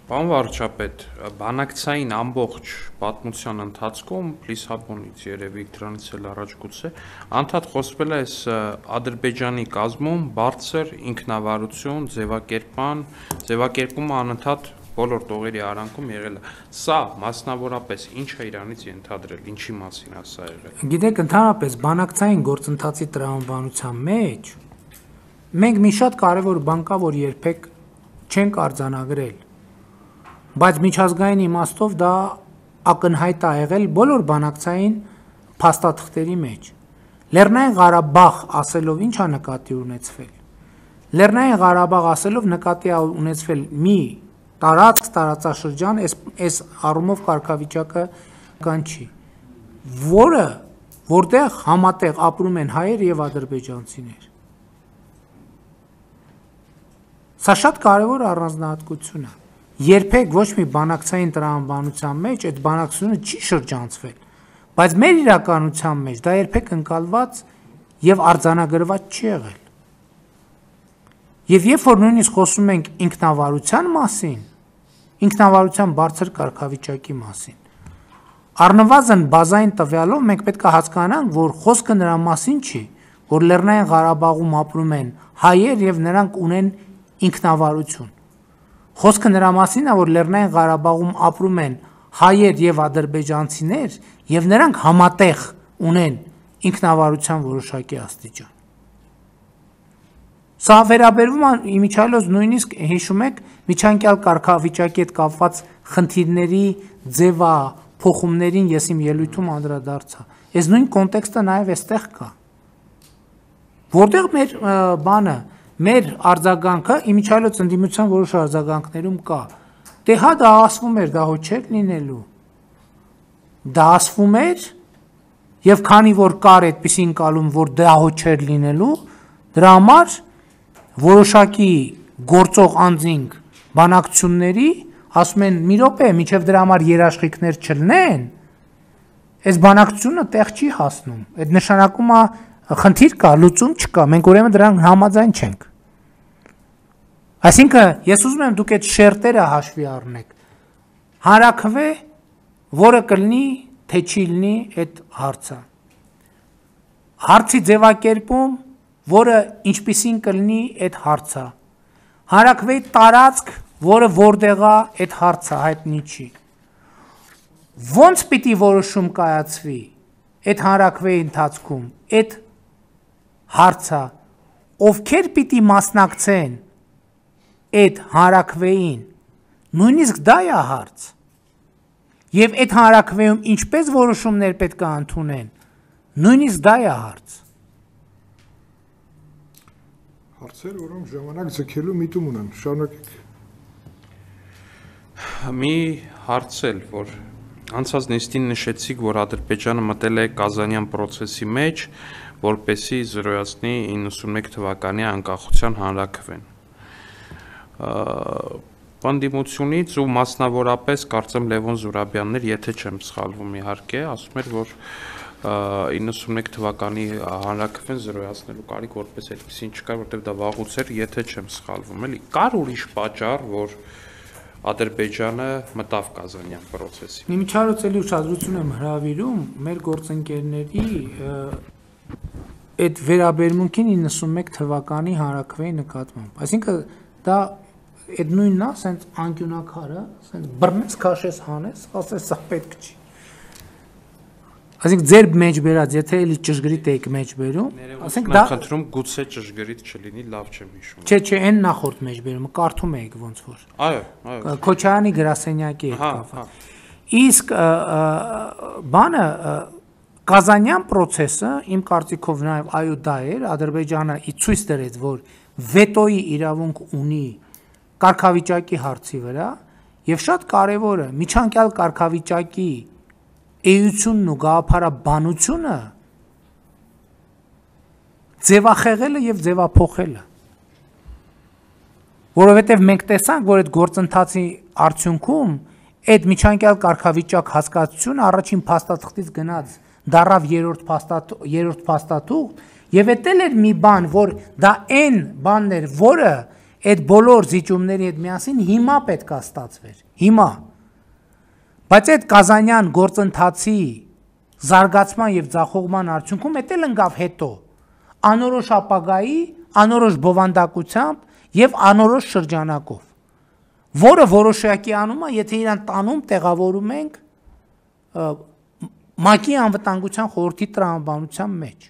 Պարոն վարչապետ, բանակցային ամբողջ պատմության ընթացքում Լիսաբոնից երևի դրանից էլ առաջ գուցե անդադ խոսվել է այս Ադրբեջանի կազմում բարձր ինքնավարություն, ձևակերպումը անընդհատ բոլոր տողերի արանքում եղել է։ Սա մասնավորապես ինչ է իրանից ենթադրել, ինչի մասին է սա եղել։ Գիտեք, ընդհանրապես բանակցային գործընթացի տրամաբանության մեջ մենք մի շատ կարևոր բան կա, որ երբեք չենք արձանագրել, բայց միջազգային իմաստով դա ակնհայտ է եղել բոլոր բանակցային փաստաթղթերի մեջ։ Լեռնային Ղարաբաղ ասելով ինչ է նկատի ունեցվել։ Լեռնային Ղարաբաղ ասելով նկատի է ունեցվել մի տարածաշրջան, այս առումով կարգավիճակը կան չի, որտեղ համատեղ ապրում են հայեր եւ ադրբեջանցիներ։ Սա շատ կարևոր առանձնահատկություն է։ Երբեք ոչ մի բանակցային տրամաբանության մեջ այդ բանակցությունը չի շրջանցվել, բայց մեր իրականության մեջ դա երբեք ընկալված եւ արձանագրված չի եղել։ Եվ երբ որ նույնիսկ խոսում ենք ինքնավարության մասին, ինքնավարության բարձր կարգավիճակի մասին, առնվազն բազային տվյալով մենք պետք է հասկանանք, որ խոսքը նրա մասին չի, որ Լեռնային Ղարաբաղում ապրում են հայեր եւ նրանք ունեն ինքնավարություն։ Խոսքը նրա մասին է, որ Լեռնային Ղարաբաղում ապրում են հայեր եւ ադրբեջանցիներ եւ նրանք համատեղ ունեն ինքնավարության որոշակի աստիճան։ Սա վերաբերվում է իմիջիայլոց նույնիսկ հիշում եք միջանկյալ կարգավիճակի հետ կապված խնդիրների ձևափոխումներին ես իմ ելույթում անդրադարձա։ Այս նույն կոնտեքստը նաեւ այստեղ կա։ Որտեղ մեր բանը մեր արձագանքը իմիջիայլոց ընդդիմության որոշ արձագանքներում կա։ Դե հա դա ասվում էր, դա հո չէր լինելու։ Դա ասվում էր եւ քանի որ կար այդպիսի ընկալում, որ դա հո չէր լինելու, դրա համար որոշակի գործող անձինք բանակցությունների ասում են մի րոպե, միջև դրա համար երաշխիքներ չլինեն, այս բանակցությունը տեղ չի հասնում։ Այդ նշանակում է խնդիր կա, լուծում չկա, մենք ուրեմն դրան համաձայն չենք։ Այսինքն, ես ուզում եմ դուք այդ շերտերը հաշվի առնեք։ Հանրաքվե, որը կլինի, թե չի լինի այդ հարցը։ Հարցի ձևակերպում, որը ինչպիսին կլինի այդ հարցը։ Հանրաքվեի տարածք, որը որտեղ է այդ հարցը հայտնի չի։ Ոնց պիտի որոշում կայացվի այդ հանրաքվեի ընթացքում, այդ հարցը, ովքեր պիտի մասնակցեն այդ հանրաքվեին, նույնիսկ դա է հարց։ Եվ այդ հանրաքվեում ինչպես որոշումներ պետք է ընդունեն, նույնիսկ դա է հարց։ Հարցեր, որոնք ժամանակ ձգելու միտում ունեն, շարունակեք։ Մի հարց էլ, որ անցած նիստին նշեցիք, որ Ադրբեջանը մտել է Կազանյան պրոցեսի մեջ, որպեսզի զրոյացնի 91 թվականի անկախության հանրաքվեն։ Պանդիմությունից ու մասնավորապես կարծեմ Լևոն Զուրաբյանն էր, եթե չեմ սխալվում իհարկե, ասում էր, որ 91 թվականի հանրաքվեն զրոյացնելու կարիք որպես այդպեսին չկար, որտեղ դա վաղուց էր, եթե չեմ սխալվում, էլի։ Կար ուրիշ պատճառ, որ Ադրբեջանը մտավ Կազանյան պրոցեսի։ Միջարոցելի ուշադրություն եմ հրավիրում մեր գործընկերների այդ վերաբերմունքին 91 թվականի հանրաքվեի նկատմամբ։ Այսինքն դա այդ նույնն է, ասենց անկյունակարը, ասենց բռնես, քաշես, հանես, ասես սա պետք չի։ Այսինքն ձեր մեջ բերած, եթե էլի ճշգրիտ եք մեջ բերում, ասենք դա խնդրում գուցե ճշգրիտ չլինի, լավ չեմ հիշում։ Չէ, այն նախորդ մեջ բերումը կարդում եք ոնց որ։ Այո։ Քոչարյանի գրասենյակի հետ կապված։ Իսկ բանը Կազանյան պրոցեսը իմ կարծիքով նաև այո դա էր, Ադրբեջանը ցույց տվեց, որ վետոյի իրավունք ունի կարգավիճակի հարցի վրա, եւ շատ կարեւորը միջանկյալ կարգավիճակի էությունն ու գաղափարաբանությունը ձևախեղելը եւ ձևափոխելը, որովհետեւ մենք տեսանք, որ այդ գործընթացի արդյունքում այդ միջանկյալ կարգավիճակ հասկացությունը առաջին փաստաթղթից գնաց դարավ երրորդ փաստաթուղթ եւ էտել էր մի բան, որ դա այն բանն էր, որը այդ բոլոր զիջումների հետ միասին հիմա պետք է ստացվեր, հիմա։ Բայց այդ Կազանյան գործընթացի զարգացման եւ ձախողման արդյունքում էդ էլ ընկավ հետո անորոշ ապագայի, անորոշ բովանդակությամբ եւ անորոշ շրջանակով, որը որոշակի անում է, եթե իրան տանում տեղավորում ենք ՄԱԿ-ի անվտանգության խորհրդի տրամաբանության մեջ։